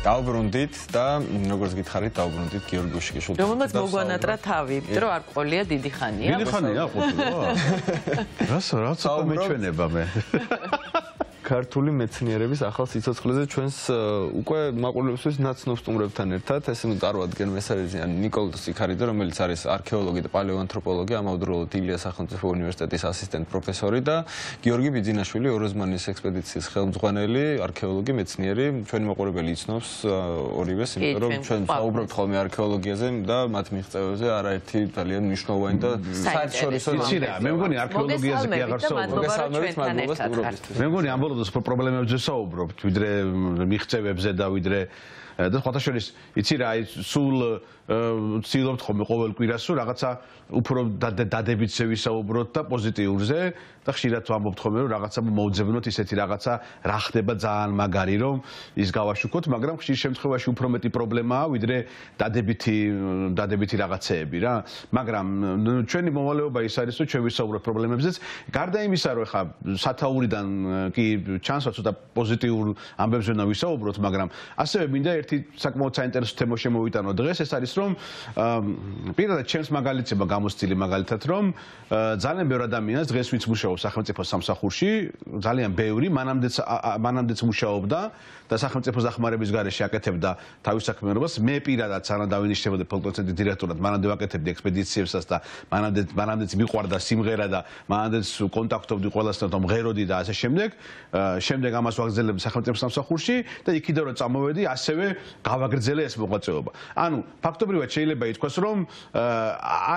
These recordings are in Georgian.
დავბრუნდით და როგორც გითხარით, დავბრუნდით გიორგი გუშიკიშვილთან. რომელმაც მოგვანატრა თავი, იმიტომ რომ არ ყოლია დიდი ხანია. დიდი ხანია ყოფილა. რაც მეჩვენება მე. ქართული მეცნიერების ახალ სიცოცხლეზე ჩვენს უკვე მაყურებელისთვის ნაცნობ სტუმრებთან ერთად ესე წარვადგენ მესარეზიან ნიკოლოზ სიქარიძე, რომელიც არის არქეოლოგი და პალეოანთროპოლოგი, ამავდროულად ილია სახელმწიფო უნივერსიტეტის ასისტენტ პროფესორი და გიორგი ბიძინაშვილი, ოროზმანის ექსპედიციის ხელმძღვანელი, არქეოლოგი, მეცნიერი. ჩვენი მაყურებელი იცნობს ორივეს, იმიტომ რომ ჩვენ ვსაუბრობთ ხოლმე არქეოლოგიაზე და მათ მიღწევებზე არაერთი ძალიან მნიშვნელოვანი და საერთაშორისო მე მგონი არქეოლოგიაზე კი აღარ საუბრობთ. მე მგონი პრობლემებზე საუბრობთ, ვიდრე მიღწევებზე და ვიდრე და სხვათაშორის იცი რა, სულ ვცდილობთ ხოლმე ყოველ კვირას რაღაცა უფრო დადებითზე ვისაუბროთ და პოზიტიურზე და ხშირად ვამბობთ ხოლმე რომ რაღაცა მოვძებნოთ ისეთი რაღაცა რა ხდება ძალიან მაგარი რომ ის გავაშუქოთ, მაგრამ ხშირ შემთხვევაში უფრო მეტი პრობლემაა ვიდრე დადებითი რაღაცეები რა. მაგრამ ჩვენი მოვალეობა ის არის რომ ჩვენ ვისაუბროთ პრობლემებზეც, გარდა იმისა რომ ხა სათაურიდან კი ჩანს ცოტა პოზიტიურ ამბებზე უნდა ვისაუბროთ, მაგრამ ასევე მინდა ერთი საკმაოდ საინტერესო თემა შემოვიტანო დღეს, ეს არის რომ პირადად ჩემს მაგალითებმა გამოსცილი მაგალითად რომ ძალიან ბევრი ადამიანს დღეს ვინც მუშაობს სახელმწიფო სამსახურში, ძალიან ბევრი მანამდეც მუშაობდა და სახელმწიფო დახმარების გარეშე აკეთებდა თავის საქმიანობას. მე პირადად სანამ დავინიშნებოდი ფოლკლორცენტრის დირექტორად, მანამდე ვაკეთებდი ექსპედიციებსაც და მანამდეც მიყვარდა სიმღერა და მანამდეც კონტაქტობდი ყველასთან და მღეროდი და ასე შემდეგ. შემდეგ ამას ვაგრძელებდი სახელმწიფო სამსახურში და იქიდან რომ წამოვედი, ასევე გავაგრძელე ეს მოღვაწეობა. ანუ ფაქტობრივად შეიძლება ითქვას, რომ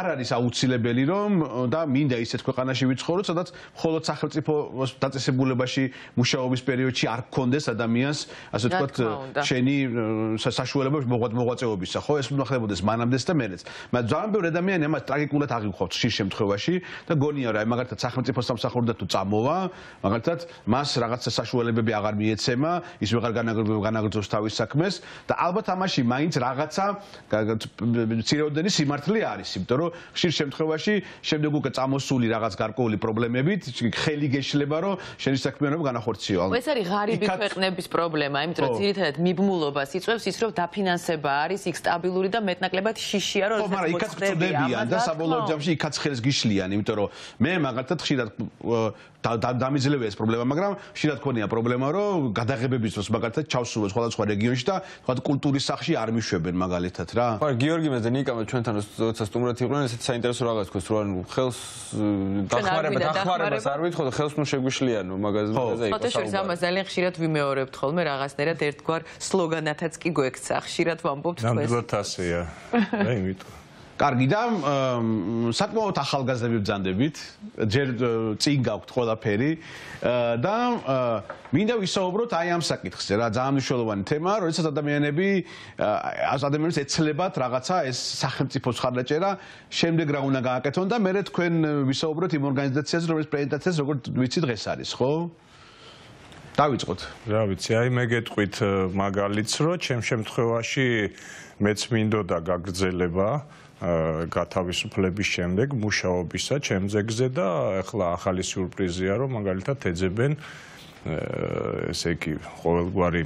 არ არის აუცილებელი რომ და მინდა ისეთ ქვეყანაში ვიცხოვრო, სადაც მხოლოდ სახელმწიფო დაწესებულებაში მუშაობის პერიოდში არ გქონდეს ადამიანს, ასე ვთქვათ, შენი საშუალება მოღვაწეობისა, ხო? ეს უნდა ხდებოდეს მანამდეც და მერეც. მაგრამ ძალიან ბევრი ადამიანი ამას ტრაგიკულად აღიქვამთ ხშირ შემთხვევაში და გონია რა, მაგალითად სახელმწიფო სამსახურიდან თუ წამოვა, მაგალითად მას რაღაცა საშუალებები აღარ მიეცემა, ის ვეღარ განაგრძობს თავის საქმეს და ალბათ ამაში მაინც რაღაცა მცირეოდენი სიმართლე არის, იმიტომ რომ ხშირ შემთხვევაში შემდეგ უკვე წამოსული რაღაც გარკვეული პრობლემებით ხელი გეშლება, რომ შენი საქმიანობა განახორციელა. ეს არის ღარიბი ქვეყნების პრობლემა, იმიტომ რომ ძირითადად მიბმულობას იწვევს ის, რომ დაფინანსება არის იქ სტაბილური და მეტნაკლებად შიშია, რომ ხო, მაგრამ იქაც წვდებიან და საბოლოო ჯამში იქაც ხელს გიშლიან, იმიტომ რომ მე მაგალითად ხშირად დამიძლევია ეს პრობლემა, მაგრამ ხშირად ქონია პრობლემა, რომ გადაღებების დროს მაგალითად ჩავსულო სხვადასხვა რეგიონში და თქვა კულტურის სახლში არ მიშვებენ მაგალითად რა. ხო, გიორგი და ნიკა ჩვენთან როცა სტუმრად იყვნენ, ესეც საინტერესო რაღაც თქვეს, რომ ხელს დახმარებას არ ვითხოვ და ხელს ნუ შეგვიშლიანო მაგაზე იყო. ფოტოშოპს ამას ძალიან ხშირად ვიმეორებთ ხოლმე რაღაცნაირად ერთგვარ სლოგანათაც კი გვექცა. ხშირად ვამბობთ თქვენ. ნამდვილად ასეა. და იმიტომ კარგი და საკმაოდ ახალგაზრდები ვბრძანდებით, ჯერ წინ გაქვთ ყველაფერი და მინდა ვისაუბროთ აი ამ საკითხზე რა, ძალიან მნიშვნელოვანი თემაა, როდესაც ადამიანებს ეცლებათ რაღაცა ეს სახელმწიფო მხარდაჭერა, შემდეგ რა უნდა გააკეთონ და მერე თქვენ ვისაუბროთ იმ ორგანიზაციაზე, რომელიც პრეზენტაციას როგორც ვიცი დღეს არის, ხო? დავიწყოთ. რა ვიცი, აი მე გეტყვით მაგალითს, რომ ჩემ შემთხვევაში მეც მინდოდა გაგრძელება გათავისუფლების შემდეგ მუშაობისა ჩემ ძეგლზე და ახლა ახალი სიურპრიზია რომ მაგალითად ეძებენ ესე იგი ყოველგვარი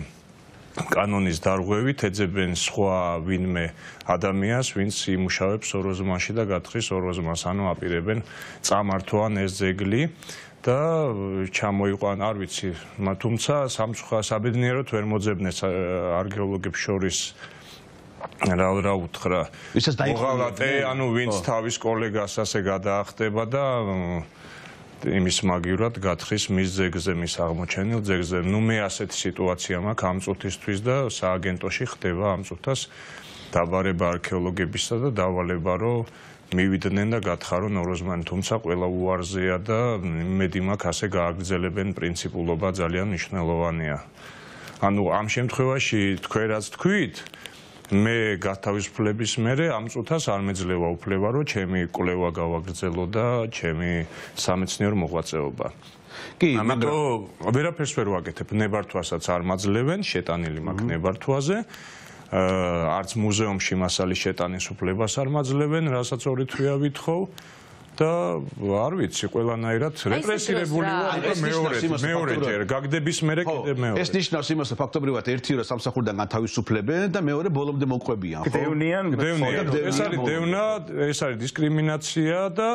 კანონის დარღვევით ეძებენ სხვა ვინმე ადამიანს ვინც იმუშავებს ოროზმანში და გათხრის ოროზმანს, ანუ აპირებენ წამართვან ეს ძეგლი და ჩამოიყვან, არ ვიცი, თუმცა საბედნიეროდ ვერ მოძებნეს არქეოლოგებს შორის რა უთხრა მოღალატე, ანუ ვინც თავის კოლეგას ასე გადაახტება და იმის მაგივრად გათხრის მის ძეგლზე, მის აღმოჩენილ ძეგლზე. ნუ მე ასეთი სიტუაცია მაქვს ამ წუთისთვის და სააგენტოში ხდება ამ წუთას დაბარება არქეოლოგებისა და დავალება, რომ მივიდნენ და გათხარონ ოროზმანი, თუმცა ყველა უარზეა და იმედი მაქვს ასე გააგრძელებენ პრინციპულობა ძალიან მნიშვნელოვანია. ანუ ამ შემთხვევაში თქვენ რაც თქვით, მე გათავისუფლების მერე ამ წუთას არ მეძლევა უფლება, რომ ჩემი კვლევა გავაგრძელო და ჩემი სამეცნიერო მოღვაწეობა. კი, მაგრამ ვერაფერს ვერ ვაკეთებ, ნებართვასაც არ მაძლევენ, შეტანილი მაქვს ნებართვაზე. არც მუზეუმში მასალის შეტანის უფლებას არ მაძლევენ, რასაც ორი თვეა ვითხოვ. და არ ვიცი, ყველანაირად რეპრესირებული ვარ და მეორეჯერ გაგდების მერე კიდე მეორე. ეს ნიშნავს იმას, რომ ფაქტობრივად ერთი რა სამსახურიდან განთავისუფლებენ და მეორე ბოლომდე მოყვებიან, ხო? გდევნიან. ეს არის დევნა, ეს არის დისკრიმინაცია და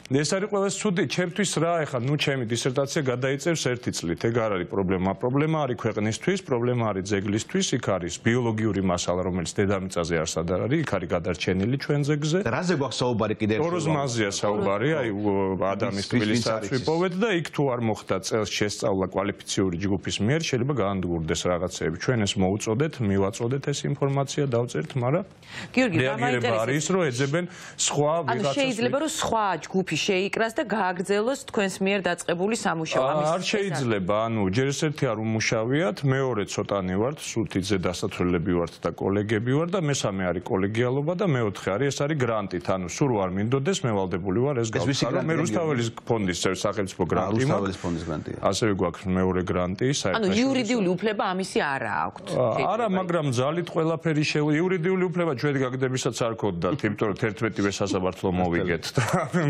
ეს არის ყველაზე ცუდი, ჩემთვის რა, ეხლა ნუ ჩემი დისერტაცია გადაიწერს 1 წლით, ეგ არ არის პრობლემა. პრობლემა არის ქვეყნისთვის, პრობლემა არის ძეგლისთვის, იქ არის ბიოლოგიური მასალა, რომელიც დედამიწაზე არსად არ არის, იქ არის გადარჩენილი ჩვენ ძეგლზე. რაზე გვაქვს საუბარი კიდე ერთხელ? ტოროს მაზია საუბარი, აი ადამიანის თბილის წავიპოვეთ და იქ თუ არ მოხდა წელს შესწავლა კვალიფიციური ჯგუფის მიერ, შეიძლება გაანადგურდეს რაღაცეები. ჩვენ ეს მოუწოდეთ, მივაწოდეთ ეს ინფორმაცია, დავწერთ, მაგრამ გიორგი, რეაგირება არის, რომ ეძებენ სხვა ვიღაცას. ანუ შეიძლება რომ სხვა ჯგუფი შეიკრას და გააგრძელოს თქვენს მიერ დაწყებული სამუშაო. არ შეიძლება, ანუ ჯერ ერთი არ უმუშავიათ, მეორე ცოტანი ვართ, სულთიძე დასათვლელები ვართ და კოლეგები ვარ და მესამე არის კოლეგიალობა და მეოთხე არის ეს არის გრანტით, ანუ სულ არ მინდოდეს, მე ვალდებული ვარ ეს გავხსნა. მე რუსთაველის ფონდის სახელმწიფო გრანტი მაქვს. რუსთაველის ფონდის გრანტია. ასევე გვაქვს მეორე გრანტი, ანუ იურიდიული უფლება ამისი არა აქვთ. არა, მაგრამ ძალით ყველაფერი იურიდიული უფლება ჩვენ გაგდებისაც არ გქონდათ, იმიტომ რომ 11-ვე სასამართლო მოვიგეთ და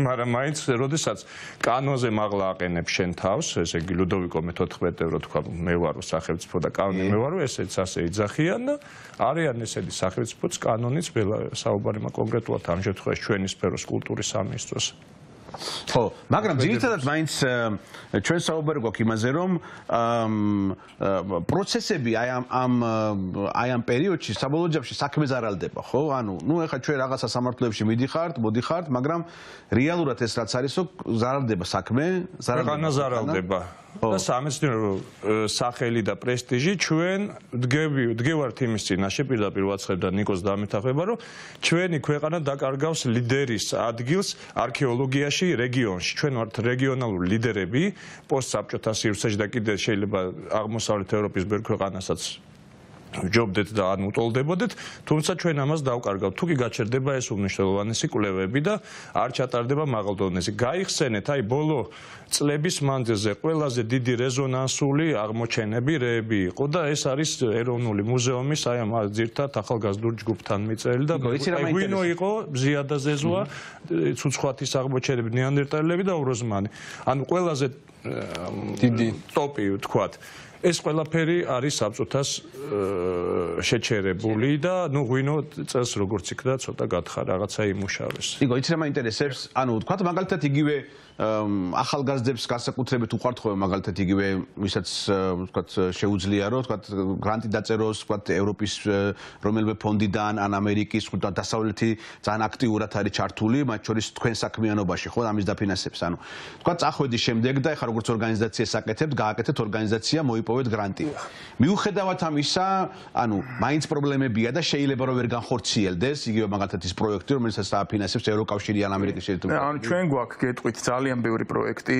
მაგრამ მაინც როდესაც კანონზე მაღლა აყენებ შენ თავს, ესე იგი ლუდოვიკო მე-14 რო თქვა მე ვარო სახელმწიფო და კანონი მე ვარო, ესეც ასე იძახიან და არიან ესეთი სახელმწიფოც კანონიც საუბარი კონკრეტულად ამ შემთხვევაში ჩვენი სფეროს კულტურის სამინისტროს. ხო, მაგრამ ძირითადად მაინც ჩვენ საუბარი გვაქვს იმაზე, რომ პროცესები აი ამ პერიოდში საბოლოო ჯამში საქმე ზარალდება, ხო? ანუ, ეხლა ჩვენ რაღაცა სამართლოებში მოდიხართ, მაგრამ რეალურად ეს რაც არის, ზარალდება საქმე, ზარალდება. და სამეცნიერო სახელი და პრესტიჟი ჩვენ დგევართ იმის წინაშე, პირდაპირ ვაცხებ და ნიკოს დამეთახება, რომ ჩვენი ქვეყანა დაკარგავს ლიდერის ადგილს არქეოლოგიაში რეგიონში. ჩვენ ვართ რეგიონალური ლიდერები პოსტსაბჭოთა სივრცეში და კიდე შეიძლება აღმოსავლეთ ევროპის ბევრ ქვეყანასაც ჯობდეთ და ან უტოლდებოდეთ, თუმცა ჩვენ ამას დავკარგავთ. თუ კი გაჩერდება ეს უმნიშვნელოვანესი კვლევები და არ ჩატარდება მაღალ დონეზე. გაიხსენეთ, აი ბოლო წლების მანძილზე ყველაზე დიდი რეზონანსული აღმოჩენები რეები იყო და ეს არის ეროვნული მუზეუმის აი ამ ძირთად ახალგაზრდულ ჯგუფთან მიწერილი და გვინო იყო ზიადა ზეზუა, ცუცხვათის აღმოჩენები, ნეანდერტალელები და უროზმანი. ანუ ყველაზე დიდი ტოპი ვთქვათ. ეს ყველაფერი არის საბჭოთას შეჩერებული და ნუ ღვინო წელს როგორც იქნა ცოტა გათხარ რაღაცა იმუშავეს. იგო, იცი რა მაინტერესებს? ანუ ვთქვათ მაგალითად იგივე ახალგაზრდებს განსაკუთრებით უყვართ ხოლმე მაგალითად იგივე ვისაც ვთქვათ შეუძლია რომ ვთქვათ გრანტი დაწეროს ვთქვათ ევროპის რომელიმე ფონდიდან ან ამერიკის ვთქვათ დასავლეთი ძალიან აქტიურად არის ჩართული მათ შორის თქვენ საქმიანობაში ხო ამის დაფინანსებს ანუ ვთქვათ წახვედი შემდეგ და ეხლა როგორც ორგანიზაციას აკეთებთ გააკეთეთ ორგანიზაცია მოიპოვეთ გრანტი მიუხედავად ამისა ანუ მაინც პრობლემებია და შეიძლება რომ ვერ განხორციელდეს იგივე მაგალითად ის პროექტი რომელსაც დააფინანსებს ევროკავშირი ან ამერიკის შეერთებული ანუ ჩვენ გვაქვს გეტყვით ძალიან ბევრი პროექტი,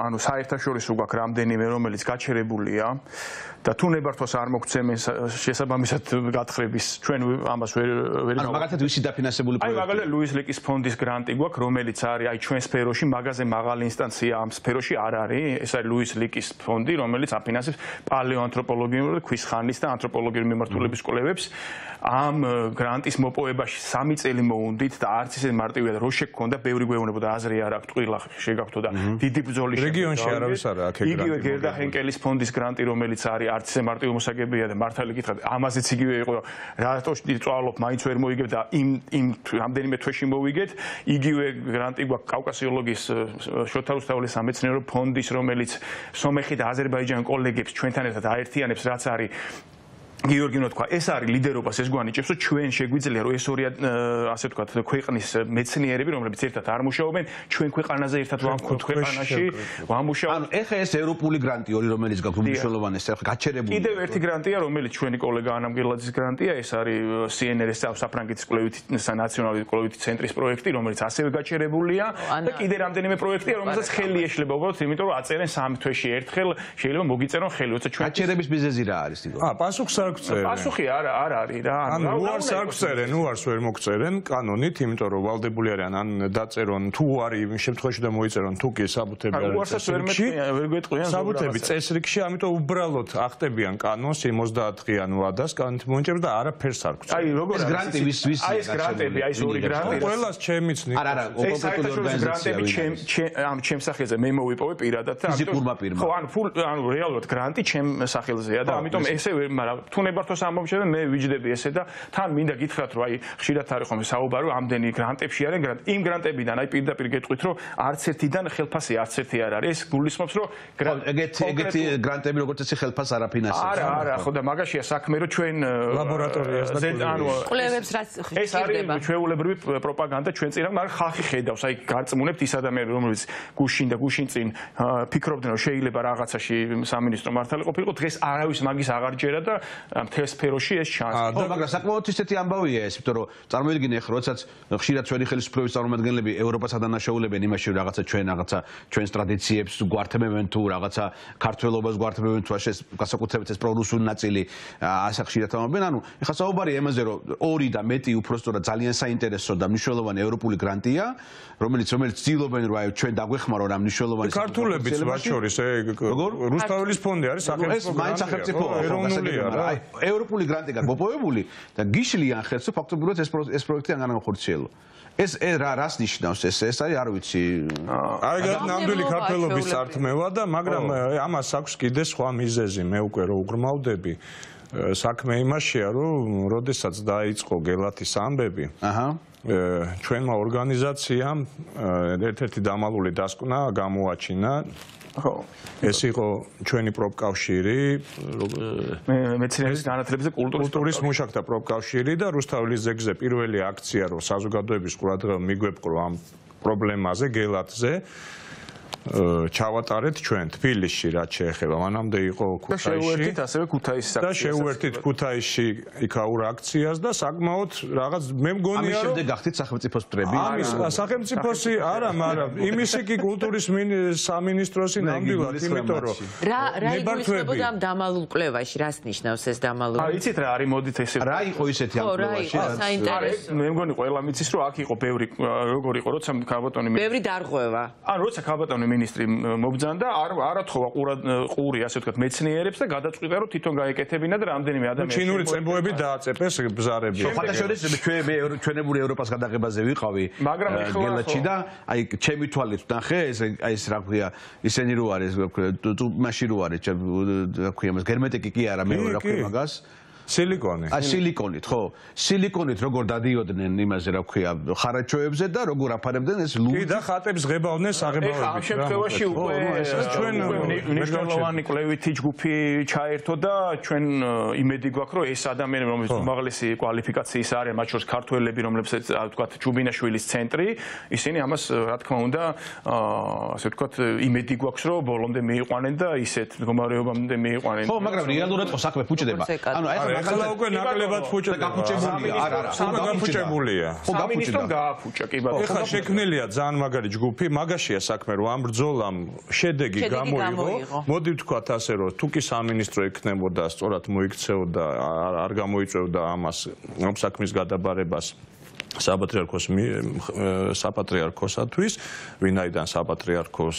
ანუ საერთაშორისო გვაქვს რამდენიმე, რომელიც გაჩერებულია და თუ ნებართვას არ მოგცემენ შესაბამისად გათხრების ჩვენ ამას ვერ ანუ მაგალითად ვისი დაფინანსებული პროექტი? აი მაგალითად ლუის ლიკის ფონდის გრანტი გვაქვს, რომელიც არის აი ჩვენ სფეროში მაგაზე მაღალი ინსტანცია ამ სფეროში არ არის, ეს არის ლუის ლიკის ფონდი, რომელიც აფინანსებს პალეოანთროპოლოგიური და ქვის ხანის და ანთროპოლოგიური მიმართულების კვლევებს. ამ გრანტის მოპოვებაში 3 წელი მოუნდით და არც ისე მარტივია და რო შეგქონდა ბევრი გვეუბნებოდა აზრი არ აქვს, ტყილა შეგაქვთო და დიდი ბრძოლის რეგიონში არავის არა აქ გრანტი. იგივე გერდა ჰენკელის ფონდის გრანტი, რომელიც არის არც ისე მარტივი მოსაგებია და მართალი გითხრათ, ამაზეც იგივე იყო, რატო წვალობ, მაინც ვერ მოიგებ და იმ რამდენიმე თვეში მოვიგეთ. იგივე გრანტი გვაქვს კავკასიოლოგიის შოთა რუსთაველის სამეცნიერო ფონდის, რომელიც სომეხი და აზერბაიჯანი კოლეგებს ჩვენთან ერთად აერთიანებს, რაც არის გიორგი თქვა, ეს არის ლიდერობას ეს გვანიჭებს, რომ ჩვენ შეგვიძლია რომ ეს ორი ასე ვთქვათ, ქვეყნის მეცნიერები, რომლებიც ერთად არ მუშაობენ, ჩვენ ქვეყანაზე ერთად ვამქოთ ქვეყანაში, ვამუშაობ. ანუ ეხა ეს ევროპული გრანტი ორი რომელიც გაქვს უმნიშვნელოვანესი, ახლა გაჩერებული. კიდევ ერთი გრანტია, რომელიც ჩვენი კოლეგა ანა მგელაძის გრანტია, ეს არის CNRS საფრანგეთის კვლევითი ნაციონალური კვლევითი ცენტრის პროექტი, რომელიც ასევე გაჩერებულია და კიდე რამდენიმე პროექტია, რომელსაც ხელი ეშლება უბრალოდ, იმიტომ რომ აწერენ 3 თვეში ერთხელ, შეიძლება მოგიწერონ ხელი, როცა ჩვენ გაჩერების მიზეზი რა არის, იგო? პასუხს არ არ გწერენ. პასუხი არ არის რა. ანუ უარს არ გწერენ, უარს ვერ მოგწერენ კანონით, იმიტომ რომ ვალდებული არიან ან დაწერონ თუ არის იმ შემთხვევაში და მოიწერონ თუ კი საბუთები არის. უარსაც ვერ გვეტყვიან საბუთები წესრიგში, ამიტომ უბრალოდ ახტებიან კანონს 50-დღიან ვადას კანონით მონიჭებს და არაფერს არ გწერენ. აი როგორ ეს გრანტი ვის აი ეს გრანტები, აი ეს ორი გრანტი. ყველას ჩემიც ნიშნავს. არა, კონკრეტული ორგანიზაციები ჩემ სახელზე მე მოვიპოვე პირადად და ფიზიკურმა პირმა. ხო, ანუ რეალურად გრანტი ჩემ სახელზეა და ამიტომ ესე მაგრამ თუ ნებართვას ამომჩნევ მე ვიჯდები ესე და თან მინდა გითხრათ რომ აი ხშირად არის ხოლმე საუბარი ამდენი გრანტებში არიან გრანტი იმ გრანტებიდან აი პირდაპირ გეტყვით რომ არც ერთიდან ხელფასი არც ერთი არ არის ეს გულისხმობს რომ ეგეთი გრანტები როგორც ესე ხელფასს არ აფინანსებს არა ხო და მაგაშია საქმე რომ ჩვენ ლაბორატორიას და ანუ კვლევებს რაც ეს არის ჩვეულებრივი პროპაგანდა ჩვენ წინ მაგრამ ხალხი ხედავს აი გარწმუნებთ ის ადამიანები რომელიც გუშინ წინ ფიქრობდნენ რომ შეიძლება რაღაცაში სამინისტრო მართალი ყოფილიყო დღეს არავის მაგის აღარ ჯერა და მთელ სფეროში ეს ჩანს. ხო, მაგრამ საკმაოდ ისეთი ამბავია ეს, იმიტომ რომ წარმოიდგინე ხო, როდესაც ხშირად ჩვენი ხელისუფლების წარმომადგენლები ევროპას ადანაშაულებენ იმაში, რომ რაღაცა ჩვენს ტრადიციებს გვართმევენ თუ რაღაცა ქართველობას გვართმევენ თუ ეს გასაკუთრებით ეს პრორუსული ნაწილი ასე ხშირად ამბობენ. ანუ ეხლა საუბარია იმაზე, რომ 2 და მეტი უпростоრად ძალიან საინტერესო და მნიშვნელოვანი ევროპული გრანტია, რომელიც ცდილობენ რომ აი ჩვენ დაგვეხმაროთ რა მნიშვნელოვანი ქართულებიც მათ შორის რუსთაველის ფონდი არის სახელმწიფო გრანტი. ეროვნულია რა. ევროპული გრანტი გაგმოპოვებული და გიშლიან ხელს რომ ფაქტობრივად ეს პროექტი არ განახორციელო. ეს რას ნიშნავს ეს არის არ ვიცი. აი ნამდვილი ქართველობის სართმევა და მაგრამ ამას აქვს კიდე სხვა მიზეზი მე უკვე რო უღრმავდები. საქმე იმაშია რომ როდესაც დაიწყო გელათის ამბები ჩვენმა ორგანიზაციამ ერთ-ერთი დამალული დასკვნა გამოაჩინა ხო ეს იყო ჩვენი პროფკავშირი მეცნიერების განათლებაზე კულტურის მუშაკთა პროფკავშირი და რუსთაველის ზეგზე პირველი აქცია რომ საზოგადოების ყურადღება მიგვეპყრო ამ პრობლემაზე გელათზე ჩავატარეთ ჩვენ თბილისში რაც შეეხება მანამდე იყო ქუთაისში და შეუერთით ქუთაისში იქაურ აქციას და საკმაოდ რაღაც მე მგონია ამის შემდეგ გახდით სახელმწიფოს მტრები ამის სახელმწიფოსი არა მაგრამ იმისი კი კულტურის სამინისტროსი ნამდვილად იმიტომ რომ რა იგულისხმებოდა ამ დამალულ კვლევაში რას ნიშნავს ეს დამალული აი იცით რა არის მოდით ესე რა იყო ისეთი ამ კვლევაში საინტერესო მე მგონი ყველა მიცის რომ აქ იყო ბევრი როგორ იყო როცა ქალბატონი ბევრი დარღვევა ანუ როცა ქალბატონი მინისტრი მობძანდა არ თხოვა ყური ასე ვთქვათ მეცნიერებს და გადაწყვიტა რომ თვითონ გაეკეთებინა და რამდენიმე ადამიანი ჩინური წებოები დააწეპეს ბზარები ხათაშორის ჩვენებური ევროპას გადაღებაზე ვიყავი გელათში და აი ჩემი თვალით ნახე ეს რა ქვია ისენი რო არის მაში რო არის რა ქვია მას გერმეტიკი კი არა მე რა ქვია მაგას სილიკონი. სილიკონით, ხო. სილიკონით როგორ დადიოდნენ იმაზე, რა ქვია, ხარაჩოებზე და როგორ აფარებდნენ ეს ლურჯი. კი და ხატებს ღებავდნენ საღებავებით. ამ შემთხვევაში უკვე ჩვენ მნიშვნელოვანი კვლევითი ჯგუფი ჩაერთო და ჩვენ იმედი გვაქვს, რომ ეს ადამიანები, რომლებიც უმაღლესი კვალიფიკაციის არიან, მათ შორის ქართველები, რომლებსაც ვთქვათ, ჩუბინაშვილის ცენტრი, ისინი ამას, რა თქმა უნდა, ასე ვთქვათ, იმედი გვაქვს, რომ ბოლომდე მიიყვანენ და ისეთ მდგომარეობამდე მიიყვანენ. ხო, მაგრამ რეალურად ხო საქმე ფუჭდება. ანუ აი ახლა უკვე ნაკლებად ფუჭდება. გაფუჭებულია, არა, გაფუჭებულია. ხო, სამინისტრომ გააფუჭა, კი ბატონო. ეხლა შექმნილია ძალიან მაგარი ჯგუფი, მაგაშია საქმე, რომ ამ ბრძოლამ შედეგი გამოიღო. მოდი ვთქვათ ასე, რომ თუ კი სამინისტრო ექნებოდა, სწორად მოიქცეოდა, არ გამოიწვევდა ამას, ამ საქმის გადაბარებას საპატრიარქოსათვის, ვინაიდან საპატრიარქოს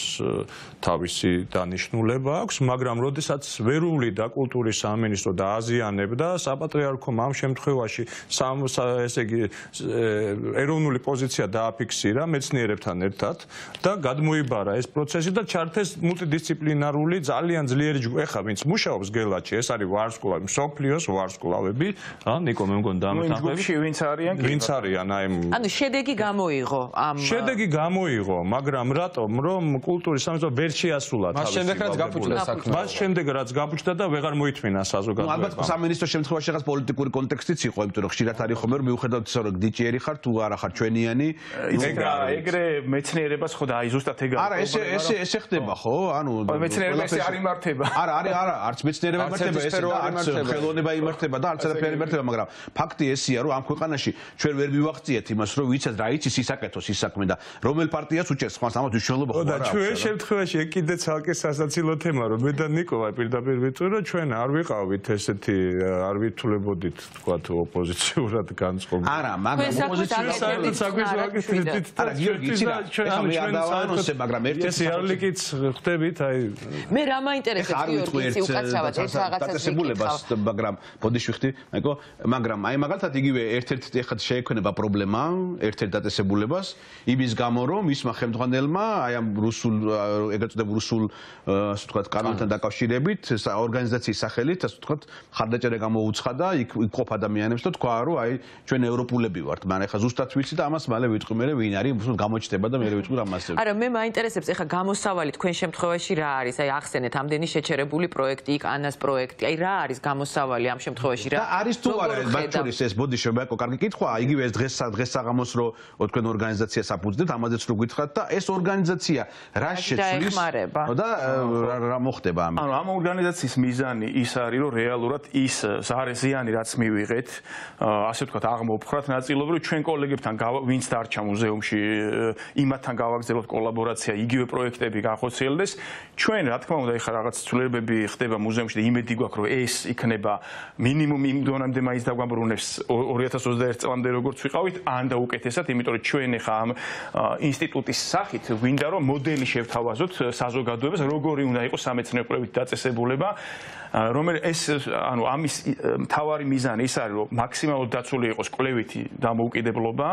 თავისი დანიშნულება აქვს, მაგრამ როდესაც ვერული და კულტურის სამინისტრო დააზიანებდა, საპატრიარქომ ამ შემთხვევაში ესე იგი ეროვნული პოზიცია დააფიქსირა მეცნიერებთან ერთად და გადმოიბარა ეს პროცესი და ჩართეს მულტიდისციპლინარული ძალიან ძლიერი ჯგუფი. ეხლა ვინც მუშაობს გელათში, ეს არის ვარსკვლავი, მსოფლიოს ვარსკვლავები, რა ნიკო მე მგონი დამთანხმები. ვინც არიან? ვინც არიან? ანუ შედეგი გამოიღო ამ შედეგი გამოიღო, მაგრამ რატომ რომ კულტურის სამინისტრო ვერ შეასრულა თავისი. მას შემდეგ რაც გაფუჭდა საქმე. მას შემდეგ რაც გაფუჭდა და ვეღარ მოითმინა საზოგადოებამ. ალბათ სამინისტრო შემთხვევაში რაღაც პოლიტიკური კონტექსტიც იყო, იმიტომ რომ ხშირად არის ხოლმე რომ მიუხედავად ისა რომ გდიჭიერი ხარ თუ არა ხარ ჩვენიანი. ეგრე მეცნიერებას ხო და აი ზუსტად ეგ არა ესე ხდება ხო? ანუ მეცნიერება ესე არ იმართება. არა არც მეცნიერება იმართება ესე და არც ხელოვნება იმართება და არც არაფერი იმართება, მაგრამ ფაქტი ესია რომ ამ ქვეყანაში ჩვენ ვერ მივახციეთ იმას, რომ ვიცით რა იცის ისაკეთოს ის საქმე და რომელ პარტიას უჭერს ხმას ამათ მნიშვნელობა ხო არა აქვს. ჩვენ შემთხვევაში კიდე ცალკე სასაცილო თემა რომ მე და ნიკოლა პირდაპირ ვიტყვი რომ ჩვენ არ ვიყავით ესეთი არ ვითულებოდით თქვათ ოპოზიციურად განწყობილ. არა, მაგრამ ოპოზიციის საქმეს ვაკეთებდით. არა, გიორგი, იცი რა, ახლა არ დავანონსე, მაგრამ ერთ-ერთი არლიკიც ხვდებით, აი მე რა მაინტერესებს გიორგი, უკაცრავად ერთ რაღაცას დაწესებულებას, მაგრამ ბოდიშვიხტი, აიქო, მაგრამ აი მაგალითად იგივე ერთ-ერთი ეხლა შეექმნება პრობლემა, ერთ-ერთ დაწესებულებას, იმის გამო რომ ისმა ხელმძღვანელმა აი ამ რუსულ ეგრეთ წოდებულ რუსულ ასე ვთქვათ კანონთან დაკავშირებით ორგანიზაციის სახელით ასე ვთქვათ ხარდაჭერა გამოუცხადა იქ ყოფ ადამიანებს და თქვა რომ აი ჩვენ ევროპულები ვართ მაგრამ ეხლა ზუსტად ვიცი და ამას მალე ვიტყვი მე ვინ არის გამოჩნდება და მე ვიტყვი რა მასზე არა მე მაინტერესებს ეხლა გამოსავალი თქვენ შემთხვევაში რა არის აი ახსენეთ ამდენი შეჩერებული პროექტი იქ ანას პროექტი აი რა არის გამოსავალი ამ შემთხვევაში რა და არის თუ არა ბატონი ეს ბოდიშვე ბაკო კარგი კითხვა იგივე ეს დღეს საღამოს რო თქვენ ორგანიზაციას აფუძნებთ ამაზეც რო გითხრათ და ეს ორგანიზაცია რა შეცვლის და რა მოხდება ამით ანუ ამ ორგანიზაციის მიზანი ის არის რომ რეალურად ის ზიანი რაც მივიღეთ ასე ვთქვათ აღმოფხრათ ნაწილობრივ ჩვენ კოლეგებთან ვინც დარჩა მუზეუმში იმათთან გავაგრძელოთ კოლაბორაცია იგივე პროექტები განხორციელდეს ჩვენ რა თქმა უნდა ეხლა რაღაც ცვლილებები ხდება მუზეუმში და იმედი გვაქვს რომ ეს იქნება მინიმუმ იმ დონემდე მაინც დაგვამბრუნებს 2021 წლამდე როგორც ვიყავით ან და უკეთესად იმიტომ რომ ჩვენ ეხლა ამ ინსტიტუტის სახით გვინდა რომ მოდელი შევთავაზოთ საზოგადოებას როგორი უნდა იყოს სამეცნიერო კვლევით დაწესებულება რომელიც ეს ანუ ამის მთავარი მიზანი ის არის რომ მაქსიმალურად დაცული იყოს კვლევითი დამოუკიდებლობა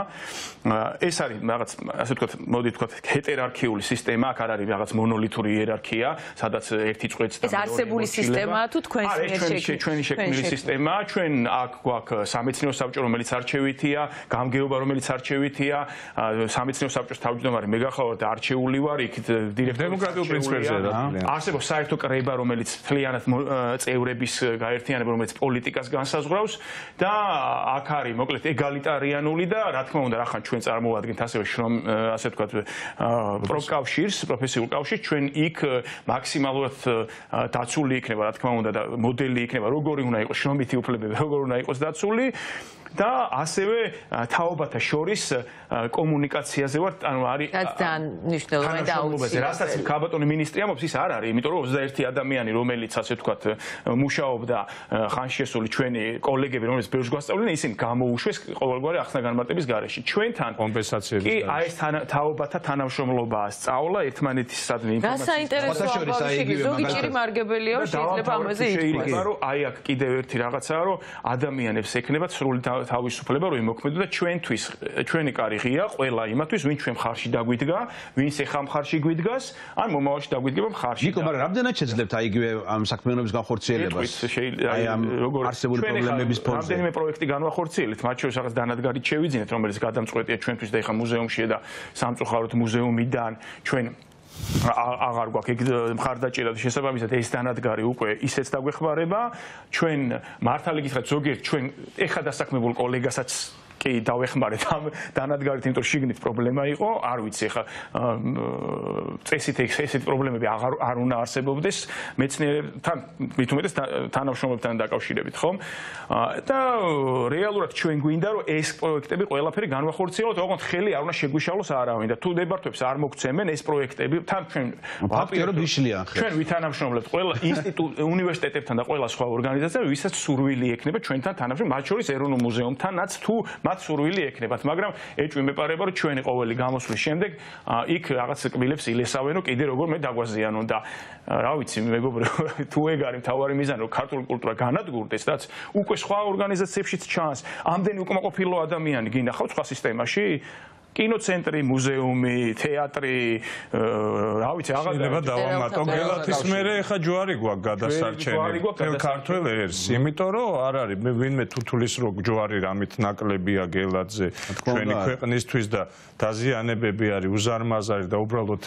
ეს არის რაღაც ასე ვთქვათ მოდი ვთქვათ ჰეტერარქიული სისტემა აქ არ არის რაღაც მონოლითური იერარქია სადაც ერთი წვეც და ეს არსებული სისტემაა თუ თქვენს ჩვენი შექმნილი სისტემაა ჩვენ აქ გვაქვს სამეცნიერო საბჭო რომელიც არჩევითია გამგეობა რომელიც არჩევითია სამეცნიერო საბჭოს თავმჯდომარე მე გახავართ არჩეული ვარ იქ დირექტორი დემოკრატიულ პრინციპებზე რა არსებობს საერთო კრება რომელიც მთლიანად წევრების გაერთიანება რომელიც პოლიტიკას განსაზღვრავს და აქ არის მოკლედ ეგალიტარიანული და რა თქმა უნდა რახან ჩვენ წარმოვადგენთ ასევე შრომ ასე ვთქვათ პროფკავშირს პროფესიულ კავშირს ჩვენ იქ მაქსიმალურად დაცული იქნება რა თქმა უნდა და მოდელი იქნება როგორი უნდა იყოს შრომითი უფლებები როგორი უნდა იყოს დაცული და ასევე თაობათა შორის კომუნიკაციაზე ვარ ანუ არის ძალიან მნიშვნელოვანი და აუცილებელი რასაც ქაბატონი მინისტრი ამბობს ის არ არის იმიტომ რომ 21 ადამიანი რომელიც ასე ვთქვათ მუშაობდა ხანშესული ჩვენი კოლეგები რომელიც ბევრს გვასწავლდნენ ისინი გამოუშვეს ყოველგვარი ახსნა-განმარტების გარეშე ჩვენთან კომპენსაციების კი აი ეს თაობათა თანამშრომლობაა სწავლა ერთმანეთისადმი ინფორმაციის ზოგი ჭირი მარგებელია შეიძლება ამაზე ითქვას რომ აი აქ კიდევ ერთი რაღაცაა რომ ადამიანებს ექნებათ სრული თავისუფლება რომ იმოქმედო და ჩვენთვის ჩვენი კარი ღია ყველა იმათვის ვინ ჩვენ მხარში დაგვიდგა ვინც ეხა მხარში გვიდგას ან მომავალში დაგვიდგება მხარში ნიკო მაგრამ რამდენად შეძლებთ აი იგივე ამ საქმიანობის განხორციელებას აი ამ არსებული პრობლემების ფონზე რამდენიმე პროექტი განვახორციელებთ მათ შორის რაღაც დანადგარით შევიძინეთ რომელიც გადამწყვეტია ჩვენთვის და ეხა მუზეუმშია და სამწუხაროდ მუზეუმიდან ჩვენ აღარ გვაქვს ეგ მხარდაჭერა და შესაბამისად ეს დანადგარი უკვე ისეც დაგვეხმარება ჩვენ მართალი გითხრათ ზოგიერთ ჩვენ ეხა დასაქმებულ კოლეგასაც კი დავეხმარეთ ამ დანადგარით იმიტომ შიგნით პრობლემა იყო არ ვიცი ეხა წესით ესეთი პრობლემები არ უნდა არსებობდეს მეცნიერებთან მით უმეტეს თანამშრომლებთან დაკავშირებით ხომ და რეალურად ჩვენ გვინდა რომ ეს პროექტები ყველაფერი განვახორციელოთ ოღონდ ხელი არ უნდა შეგვიშალოს არავინ და თუ დებართვებს არ მოგცემენ ეს პროექტები თან ჩვენ ვაპირებთ ვიშლიან ხელ ჩვენ ვითანამშრომლებთ ყველა ინსტიტუტ უნივერსიტეტებთან და ყველა სხვა ორგანიზაციებთან ვისაც სურვილი ექნება ჩვენთან თანამშრომლობ მათ შორის ეროვნულ მუზეუმთანაც თუ მათ სურვილი ექნებათ, მაგრამ ეჭვი მეპარება რომ ჩვენი ყოველი გამოსვლის შემდეგ იქ რაღაც კბილებს ილესავენო კიდე როგორ მე დაგვაზიანონ და რა ვიცი მეგობრებო თუ ეგ არის მთავარი მიზანი რომ ქართული კულტურა განადგურდეს რაც უკვე სხვა ორგანიზაციებშიც ჩანს ამდენი უკმაყოფილო ადამიანი გინახავთ სხვა სისტემაში კინოცენტრი, მუზეუმი, თეატრი, რა ვიცი, აღარ დავამატო. გელათის მერე ხა ჯვარი გვაქვს გადასარჩენი. თელ ქართველ ერს, იმიტომ რომ არ არის ვინმე თუთulis რო ჯვარი რამით ნაკლებია გელათზე ჩვენი ქვეყნისთვის და დაზიანებები არის უზარმაზარი და უბრალოდ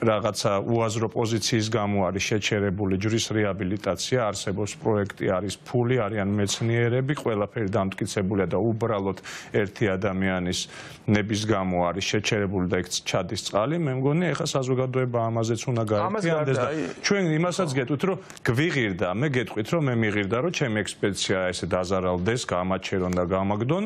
რაღაცა უაზრო პოზიციის გამო არის შეჩერებული ჯვრის რეაბილიტაცია, არსებობს პროექტი, არის ფული, არიან მეცნიერები, ყველაფერი დამტკიცებულია და უბრალოდ ერთი ადამიანის ნების გამო არის შეჩერებული და იქ ჩადის წყალი, მე მგონი ეხა საზოგადოება ამაზეც უნდა გაერთიანდეს და ჩვენ იმასაც გეტყვით რომ გვიღირდა, მე გეტყვით რომ მე მიღირდა რომ ჩემი ექსპედიცია ესე დაზარალდეს, გამაჩერონ და გამაგდონ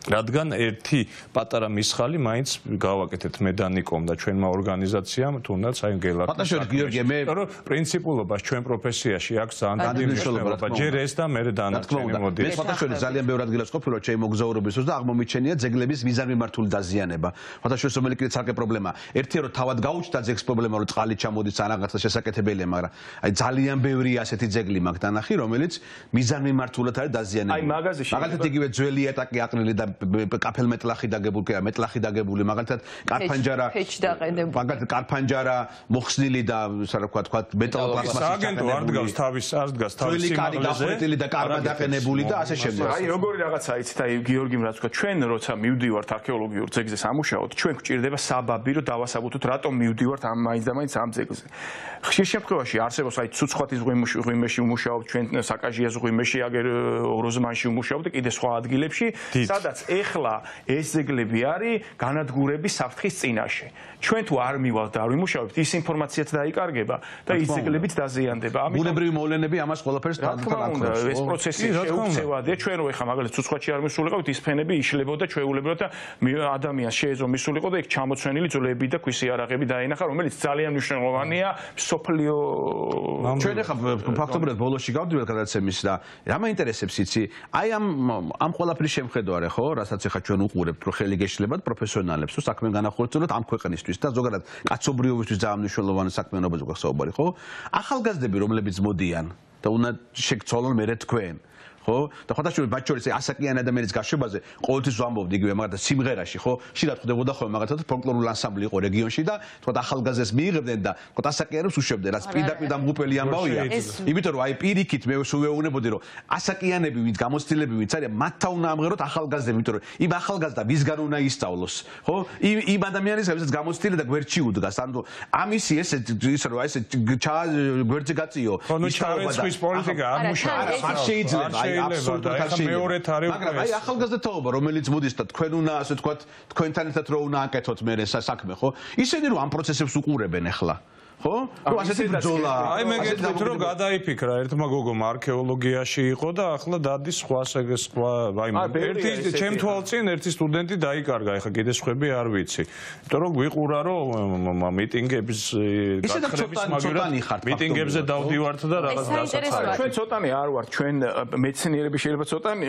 რადგან ერთი პატარა მისხალი მაინც გავაკეთეთ მე და ნიკომ და ჩვენმა ორგანიზაციამ თუნდაც აი გელაკ. ფატაშორი გიორგი მე პრინციპულობას ჩვენ პროფესიაში აქვს ძალიან დიდი მნიშვნელობა. ჯერ ეს და მე დანარჩენი მოდი. მე ფატაშორი ძალიან ბევრ ადგილას ყოფილი რომ ჩემი მოგზაურობის დროს და აღმომიჩენია ძეგლების მიზანმიმართული დაზიანება. ფატაშორის რომელი კიდე ცალკე პრობლემა. ერთია რომ თავად გაუჩნდა ძეგლს პრობლემა რომ წყალი ჩამოდის ან რაღაცა შესაკეთებელია, მაგრამ აი ძალიან ბევრი ასეთი ძეგლი მაქვს დანახი, რომელიც მიზანმიმართულად არის დაზიანებული. აი მაგაზეში მაგალითად იგივე ძველი ეტაკი აყრილი და კაფელ მეტლახი დაგებული, მეტლახი დაგებული, მაგალითად კარფანჯარა, მაგალითად კარფანჯარა მოხსნილი და რა თქვა მეტალოპლასმასი. სააგენტო არ დგას თავის ძველი კარი გახვრეტილი და კარმა დაყენებული და ასე შემდეგ. აი როგორი რაღაცა იცით, აი გიორგიმ რაც თქვა, ჩვენ როცა მივდივართ არქეოლოგიურ ძეგლზე სამუშაოდ, ჩვენ გვჭირდება საბაბი, რომ დავასაბუთოთ, რატომ მივდივართ ამ მაინც და მაინც ამ ძეგლზე. ხშირ შემთხვევაში არსებობს აი ცუცხვათის ღვიმეში ვმუშაობთ, ჩვენ საკაჟიას ღვიმეში, აგერ ოროზმანში ვმუშაობთ და კიდე სხვა ადგილებში, სადაც ეხლა ეს ძეგლები არის განადგურების საფრთხის წინაშე. ჩვენ თუ არ მივალთ და არ ვიმუშავებთ, ის ინფორმაციაც დაიკარგება და ის ძეგლებიც დაზიანდება. ამიტომ ბუნებრივი მოვლენები ამას ყველაფერს თვალყურს. ეს პროცესი შეუცვლელადია. ჩვენ რო ეხლა მაგალითად ცუცხვათში არ მისულიყავით, ის ფენები იშლებოდა ჩვეულებრივად და ადამიანს შეეძლო მისულიყო და იქ ჩამოცვენილი ძვლები და ქვის იარაღები დაინახა, რომელიც ძალიან მნიშვნელოვანია სოფლიო. ჩვენ ეხლა ფაქტობრივად ბოლოში გავდივართ გადაცემის და რა მაინტერესებს იცი? აი ამ ყველაფრის შემხედარე ხო, რასაც ეხლა ჩვენ უყურებთ, რომ ხელი გეშლებათ პროფესიონალებს, თუ საქმე განახორციელოთ ამ ქვეყნისთვის და ზოგადად კაცობრიობისთვის ძალიან მნიშვნელოვანი საქმიანობაზე გვაქვს საუბარი, ხო? ახალგაზრდები, რომლებიც მოდიან და უნდა შეგცვალონ მერე თქვენ. ხო? და ხოთაშორი ბაჭორის ასაკიანი ადამიანის გაშვებაზე ყოველთვის ვამბობდი იგივე მაგალითად სიმღერაში, ხო? შიდათ ხდებოდა ხოლმე მაგალითად ფოლკლორული ანსამბლი იყო რეგიონში და თქო ახალგაზრდებს მიიღებდნენ და თქო ასაკიანებს უშვებდნენ, რაც პირდაპირ დამღუპელი ამბავია. იმიტომ რომ აი პირიქით მე ვეუბნებოდი რომ ასაკიანები ვინც გამოცდილები ვინც არის, მათთან უნდა ამღეროთ ახალგაზრდები, იმიტომ რომ იმ ახალგაზრდა ვისგან უნდა ისწავლოს, ხო? იმ ადამიანის ვისაც გამოცდილი და გვერდში უდგას, ანუ ამისი ესე ისე რომ ესე გვერდზე გაწიო. ნუ ჩარეცხვის პოლიტიკა არ მუშაობს. არ შეიძლება მაგრამ აი ახალგაზრდაობა რომელიც მოდის და თქვენ უნდა ასე ვთქვათ თქვენთან ერთად რო უნდა აკეთოთ მე საქმე ხო ისინი რომ ამ პროცესებს უყურებენ ახლა ხო? ნუ ასეთი ბრძოლა. აი მე გეტყვით რომ გადაიფიქრა ერთმა გოგომ არქეოლოგიაში იყო და ახლა დადის სხვა აი ერთი ჩემ თვალწინ ერთი სტუდენტი დაიკარგა, ეხლა კიდე სხვები არ ვიცი. იმიტომ რომ გვიყურა რომ მიტინგების გათხრების მაგრამ მიტინგებზე დავდივართ და რაღაც დასაცავად. ჩვენ ცოტანი არ ვართ, ჩვენ მეცნიერები შეიძლება ცოტანი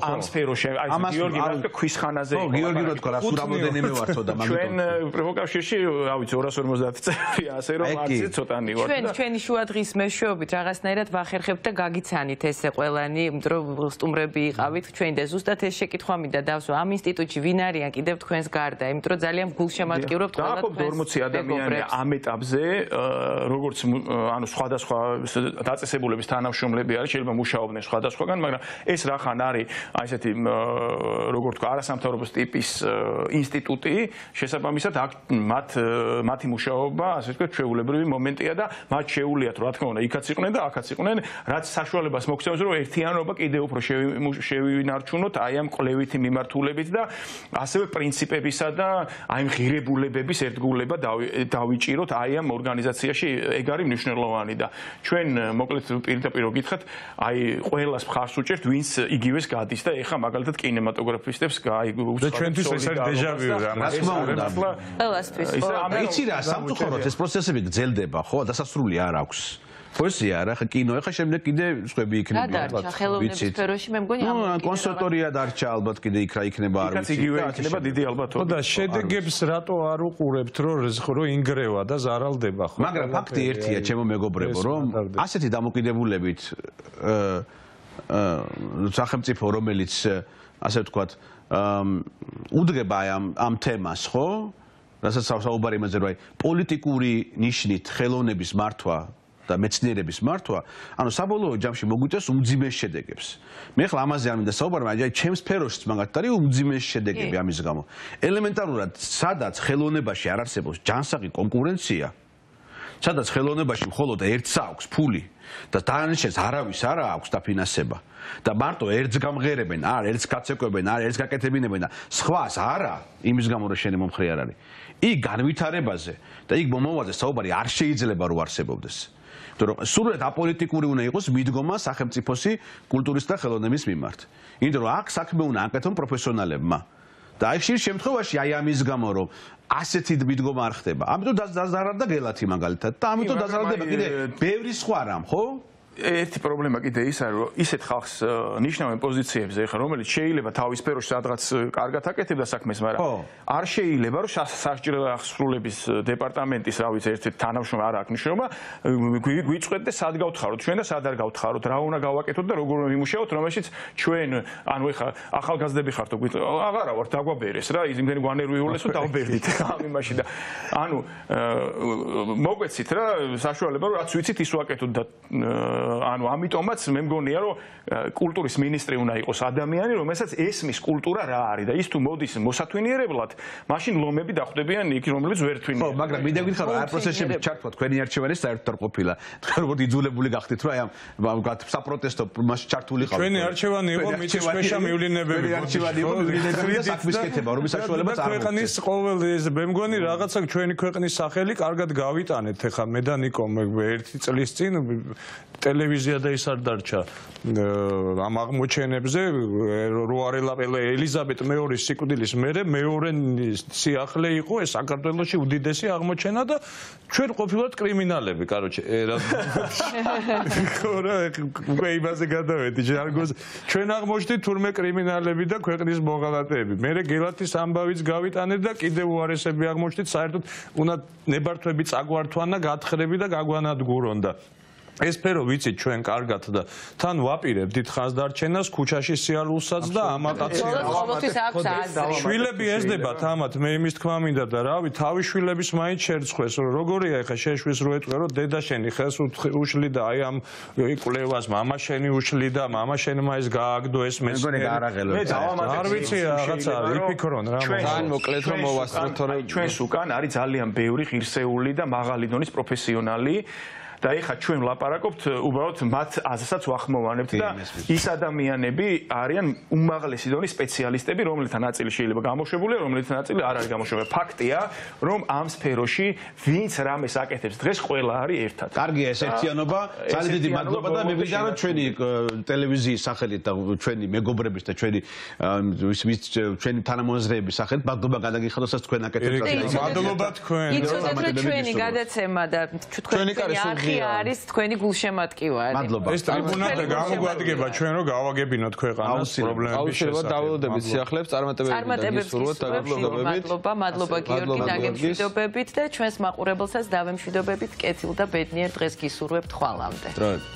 ამ სფეროში, აი გიორგი რა ქვის ხანაზე იყო. გიორგი რა თქვა, რა სულ რამოდენიმე ვართო და მაგიტომ. ჩვენ პროვოკავშირში, რა ვიცი 250 წელია, ასე რომ ჩვენი შუა დღის მეშვეობით რაღაცნაირად ვახერხებთ და გაგიცანით ესე ყველანი, იმიტომ რომ სტუმრები იყავით ჩვენ და ზუსტად ეს შეკითხვა მინდა დავსვა ამ ინსტიტუტში ვინ არიან კიდევ თქვენს გარდა, იმიტომ რომ ძალიან გულშემატკივრობთ ყველა თქვენს 40 ადამიანი ამ ეტაპზე, როგორც ანუ სხვადასხვა დაწესებულების თანამშრომლები არის, შეიძლება მუშაობდნენ სხვადასხვაგან, მაგრამ ეს რახან არის აი ესეთი როგორ თქვა არასამთავრობო ტიპის ინსტიტუტი, შესაბამისად მათი მუშაობა ასე ვთქვათ ჩვეულებრივი მომენტია და მათ შეუულიათ რა თქმა უნდა იქაც იყვნენ და აქაც იყვნენ, რაც საშუალებას მოგცემს რომ ერთიანობა კიდევ უფრო შევინარჩუნოთ აი ამ კვლევითი მიმართულებით და ასევე პრინციპებისა და აი ღირებულებების ერთგულება დავიჭიროთ აი ამ ორგანიზაციაში, ეგ არის მნიშვნელოვანი და ჩვენ მოკლედ პირდაპირ გითხრათ, აი ყველას მხარს უჭერთ, ვინც იგივეს გადის და ეხა მაგალითად კინემატოგრაფისტებს აი და ჩვენთვის ეს არის დეჟავიუ რა ყველასთვის. იცი რა, სამწუხაროდ ეს პროცესები გრძელდება, ხო? დასასრული არ აქვს. პოეზია არა, ხა კინო, ხა შემდეგ კიდე სხვები იქნება. რა დარჩა ხელოვნების სფეროში, მე მგონი ამ კონსერვატორია დარჩა ალბათ კიდე იქ რა იქნება არ ვიცი. იგივე იქნება დიდი ალბათობით. ხო და შედეგებს რატო არ უყურებთ, რომ ინგრევა და ზარალდება ხო? მაგრამ ფაქტი ერთია, ჩემო მეგობრებო, რომ ასეთი დამოკიდებულებით სახელმწიფო რომელიც ასე ვთქვათ უდგება ამ თემას, ხო? რასაც საუბარი იმაზე რომ აი პოლიტიკური ნიშნით ხელოვნების მართვა და მეცნიერების მართვა, ანუ საბოლოო ჯამში მოგვიწევს უმძიმეს შედეგებს. მე ხლა ამაზე არ მინდა საუბარი, მაგრამ აი ჩემს სფეროშიც მაგათ არის უმძიმეს შედეგები ამის გამო. ელემენტარულად, სადაც ხელოვნებაში არ არსებობს ჯანსაღი კონკურენცია, სადაც ხელოვნებაში მხოლოდ ერთს აქვს ფული და დანარჩენს არავის არ აქვს დაფინანსება და მარტო ერთს გამღერებენ, ერთს გაცეკვებენ, ერთს გაკეთებინებენ და სხვას არა, იმის გამო რომ შენი მომხრე არ არის. იქ განვითარებაზე და იქ მომავალზე საუბარი არ შეიძლება რომ არსებობდეს. იმიტომ რომ სრულად აპოლიტიკური უნდა იყოს მიდგომა სახელმწიფოსი კულტურის და ხელოვნების მიმართ. იმიტომ რომ აქ საქმე უნდა აკეთონ პროფესიონალებმა. და აი ხშირ შემთხვევაში აი ამის გამო რომ ასეთი მიდგომა არ ხდება. ამიტომ დაზარალდა გელათი მაგალითად და ამიტომ დაზარალდება კიდე ბევრი სხვა რამ, ხო? ერთი პრობლემა კიდე ის არის, რომ ისეთ ხალხს ნიშნავენ პოზიციებზე, ხა რომელიც შეიძლება თავის სფეროში სადღაც კარგად აკეთებდა საქმეს, მაგრამ არ შეიძლება რომ სასჯელო აღსრულების დეპარტამენტის, რა ვიცი, ერთ-ერთი თანამშრომელი არ აქვს მნიშვნელობა, გვიწყვეტ და სად გავთხაროთ ჩვენ და სად არ გავთხაროთ, რა უნდა გავაკეთოთ და როგორ ვიმუშაოთ, რომელშიც ჩვენ, ანუ ეხა ახალგაზრდები ხართ, აღარა ვართ, დაგვაბერეს რა, იმდენი გვანერვიულეს რომ დავბერდით ამ იმაში და ანუ მოგვეცით რა, საშუალება რომ რაც ვიცით ის ვაკეთოთ და ანუ ამიტომაც მე მგონია რომ კულტურის მინისტრი უნდა იყოს ადამიანი რომელსაც ესმის კულტურა რა არის და ის თუ მოდის მოსათვინიერებლად მაშინ ლომები დახვდებიან იქ რომლებიც ვერ თვინიან. ხო, მაგრამ მინდა გითხრა რომ არ პროცესში ჩართვა თქვენი არჩევანი საერთოდ არ ყოფილა. თქვენ როგორ იძულებული გახდით რომ აი ამ საპროტესტო მასში ჩართული ხართ. ჩვენი არჩევანი იყო მიწის ქვეშა მივლინებები. არჩევანი იყო მივლინებები და საქმის კეთება, რომის საშუალებაც არ აქვს. ქვეყნის ყოველ ეს მე მგონი რაღაცა ჩვენი ქვეყნის სახელი კარგად გავიტანეთ ეხლა მე და ნიკო ერთი წლის წინ ტელევიზია და ის არ დარჩა ამ აღმოჩენებზე რო არ ელაპელა ელიზაბეთ მეორის სიკვდილის მერე მეორე სიახლე იყო ეს საქართველოში უდიდესი აღმოჩენა და ჩვენ ყოფილვართ კრიმინალები კაროჩე ხო რა უკვე იმაზე გადავედი ჟარგოს ჩვენ აღმოჩნდით თურმე კრიმინალები და ქვეყნის მოღალატეები მერე გელათის ამბავიც გავიტანეთ და კიდევ უარესები აღმოჩნდით საერთოდ უნდა ნებართვები წაგვართვან და გათხრები და გაგვანადგურონ და ეს სფერო ვიცით ჩვენ კარგად და თან ვაპირებთ დიდ ხანს დარჩენას ქუჩაში სიარულსაც და ამაყაცებს შვილები ესდებათ ამათ მე იმის თქმა მინდა და რავი თავი შვილების მაინც შერცხვეს როგორია ეხა შეშვის რო ეტყვე რომ დედა შენი ხელს უშლი და აი ამ კვლევას მამა შენი უშლი და მამა შენმა ეს გააგდო ეს მეცნიერი არ ვიცი რაღაცა იფიქრონ რა ძალიან მოკლედ რომ მოვასწროთ თორე ჩვენს უკან არის ძალიან ბევრი ღირსეული და მაღალი დონის პროფესიონალი და ეხა ჩვენ ვლაპარაკობთ უბრალოდ მათ აზრსაც ვახმოვანებთ და ის ადამიანები არიან უმაღლესი დონის სპეციალისტები, რომელთა ნაწილი შეიძლება გამოშვებულია, რომელთა ნაწილი არ არის გამოშვებული. ფაქტია, რომ ამ სფეროში ვინც რამეს აკეთებს დღეს ყველა არის ერთად. კარგია ეს ერთიანობა, ძალიან დიდი მადლობა და მე მინდა რომ ჩვენი ტელევიზიის სახელით და ჩვენი მეგობრების და ჩვენი თანამოაზრეების სახელით მადლობა გადაგიხადოს თქვენ აკეთებთ. მადლობა თქვენ. იცოდეთ რომ ჩვენი გადაცემა და თქვენი არხი არის თქვენი გულშემატკივა. მადლობა. ეს ტრიბუნა და გამოგვადგება ჩვენ რომ გავაგებინოთ ქვეყანას პრობლემების შესახებ. დაველოდებით სიახლეებს წარმატებები გისურვოთ და გაგლობებით. მადლობა გიორგი დაგემშვიდობებით და ჩვენს მაყურებელსაც დავემშვიდობებით კეთილ და ბედნიერ დღეს გისურვებთ ხვალამდე. დროებით.